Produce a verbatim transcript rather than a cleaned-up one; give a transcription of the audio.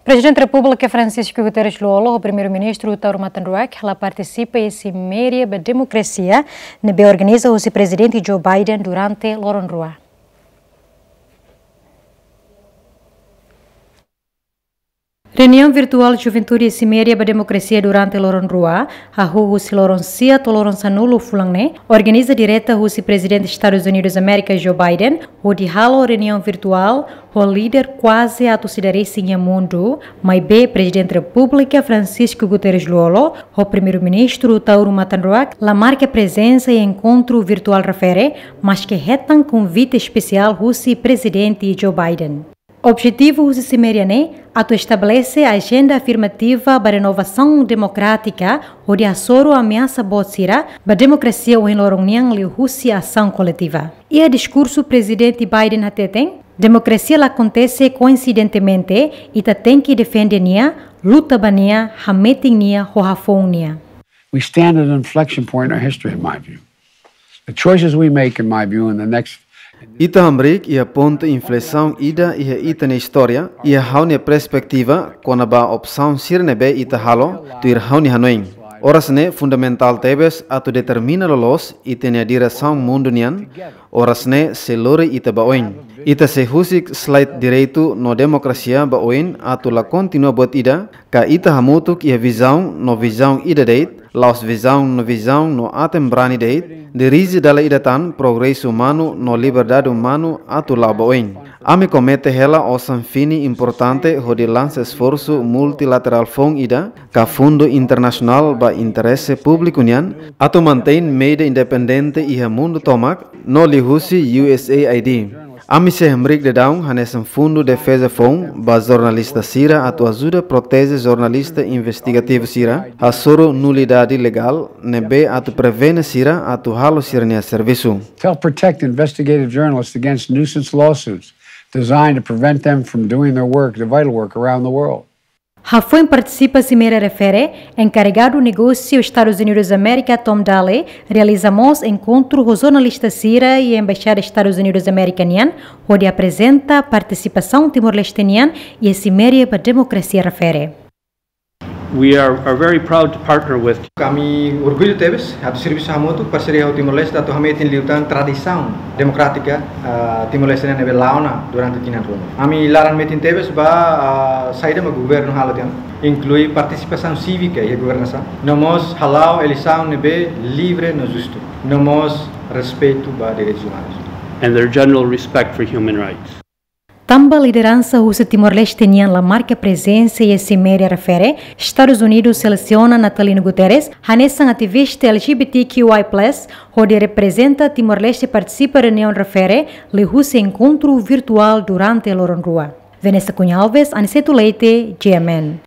Prezidente Repúblika Francisco Guterres Lú-Olo ho Primeiru-Ministru Taur Matan Ruak la partisipa iha siméria ba demokrasia ne'ebé organiza husi Prezidente Joe Biden durante loron rua. Reuniaun virtuál Juventude Siméria ba Demokrasia durante loron rua, hahú husi loron sia to'o loron sanulu fulan ne'e, organiza direta husi Prezidente Estadus Unidus Amérika Joe Biden, hodi halo reuniaun virtuál ho líder kuaze atus ida resin iha mundu, maibé Prezidente Repúblika Francisco Guterres Lú-Olo ho Primeiru-Ministru Taur Matan Ruak la marka prezensa iha enkontru virtuál refere, maske hetan konvite espesiál husi Prezidente Joe Biden. Objetivu husi siméria ne'e atu estabelese ajenda afirmativa ba renovasaun demokrátika hodi hasoru ameasa boot sira ba demokrasia ohin loron nian liuhusi asaun koletiva. Iha diskursu Prezidente Biden hateten, demokrasia la akontese koinsidentemente, ita tenke defende nia, luta ba nia, hametin nia, ho hafoun nia. We stand at an inflection point in our history, in my view. The choices we make, in my view, in the next Ita hamriik iha pontu inflesaun ida iha ita-nia istória, iha ha'u-nia perspetiva, kona-ba opsaun sira ne'ebé ita halo, tuir ha'u-nia hanoin. Oras ne'e fundamentál tebes atu determina loloos ita-nia diresaun mundu nian, oras ne'e sei lori ita ba oin. Ita sei husik slide direitu no demokrasia ba oin atu la kontinua buat ida, ka ita hamutuk iha vizaun no vizaun ida de'it, la'ós vizaun no vizaun no aten-brani de'it, dirije dala ida tan progresu umanu no liberdade umanu atu la'o ba oin. Ami komete hela osan fini importante hodi lansa esforsu multilaterál foun ida, ka fundu internasionál ba interese públiku nian, atu mantein média independente iha mundu tomak, no liuhusi U S A I D. Ami sei hamriik daudaun hanesan fundu defeza foun ba jornalista sira atu ajuda proteje jornalista investigativu sira, hasoru nulidade legál ne'ebé atu prevene sira atu halo sira-nia servisu. To help protect investigative journalists against nuisance lawsuits designed to prevent them from doing their work, their vital work around the world. Hafoin partisipa siméria refere, enkarregadu negósiu Estadus Unidus Amérika Tom Daley realiza mós enkontru ho jornalista sira iha Embaixada Estadus Unidus Amérika nian, hodi aprezenta partisipasaun Timor-Leste nian iha siméria ba demokrasia refere. We are, are very proud to partner with Ami orgullu tebes atu servisu hamutuk, parseria ho Timor-Leste atu hametin liután tradisaun demokrátika, ah, Timor-Leste ne'ebé la'o ona durante tinan ruma. Ami laran metin tebes ba, ah, saida mak governu halo tiha ona, inklui partisipasaun sívika iha governasaun, no mós hala'o eleisaun ne'ebé livre no justu, no mós respeitu ba direitus umanus. And their general respect for human rights. Tanba lideransa husi Timor-Leste nian la marka prezensa iha siméria refere, Estadus Unidus selesiona Natalino Guterres hanesan ativista L G B T Q I plus, hodi reprezenta Timor-Leste partisipa reuniaun refere, liuhusi enkontru virtuál durante loron rua. Vanessa Cunha Alves, Aniceto Leite, G M N.